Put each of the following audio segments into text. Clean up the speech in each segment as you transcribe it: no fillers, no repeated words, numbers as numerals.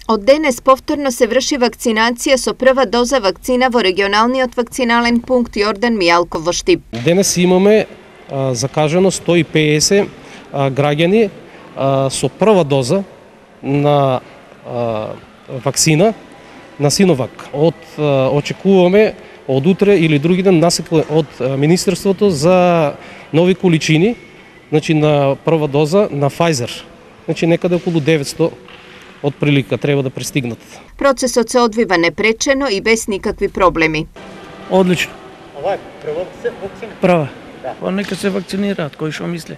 Од денес повторно се врши вакцинација со прва доза вакцина во регионалниот вакцинален пункт Јордан Мијалков во Штип. Денес имаме закажано 150 граѓани со прва доза на вакцина на Синовак. Очекуваме од утре или други ден насипа од Министерството за нови количини, значи на прва доза на Pfizer. Значи некаде околу 900 од прилика треба да пристигнат. Процесот се одвива непречено и без никакви проблеми. Одлично. Ова е прва вакцина? Прва. Да. Нека се вакцинираат, кој што мисли.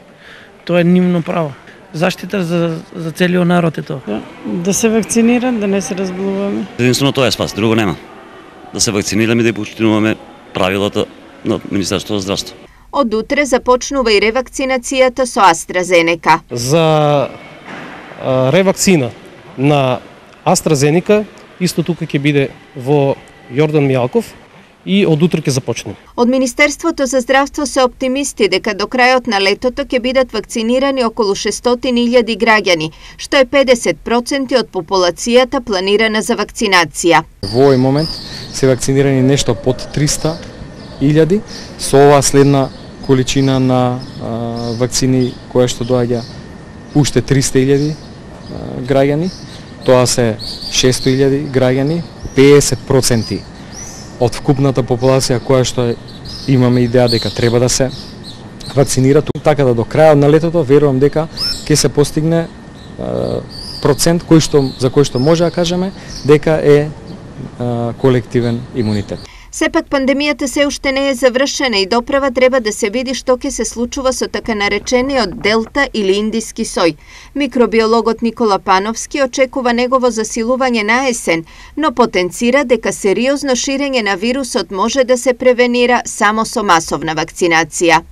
Тоа е нивно право. Заштита за целиот народ е тоа. Да се вакцинират, да не се разболуваме. Единствено тоа е спас, друго нема. Да се вакцинираме и да почитуваме правилата на Министерството за здравство. Од утре започнува и ревакцинацијата со AstraZeneca. За ревакцина на AstraZeneca исто тука ќе биде во Јордан Мијалков и од утре ќе започне. Од Министерството за здравство се оптимисти дека до крајот на летото ќе бидат вакцинирани околу 600.000 граѓани, што е 50% од популацијата планирана за вакцинација. Во овој момент се вакцинирани нешто под 300.000 со оваа следна количина на вакцини која што доаѓа уште 300.000 граѓани. Тоа се 600.000 граѓани, 50% од вкупната популација која што имаме идеја дека треба да се вакцинира, така да до крајот на летото верувам дека ќе се постигне процент за кој што може да кажеме дека е колективен имунитет. Сепак пандемијата се уште не е завршена и доправа треба да се види што ќе се случува со така наречениот Делта или индиски сој. Микробиологот Никола Пановски очекува негово засилување на есен, но потенцира дека сериозно ширење на вирусот може да се превенира само со масовна вакцинација.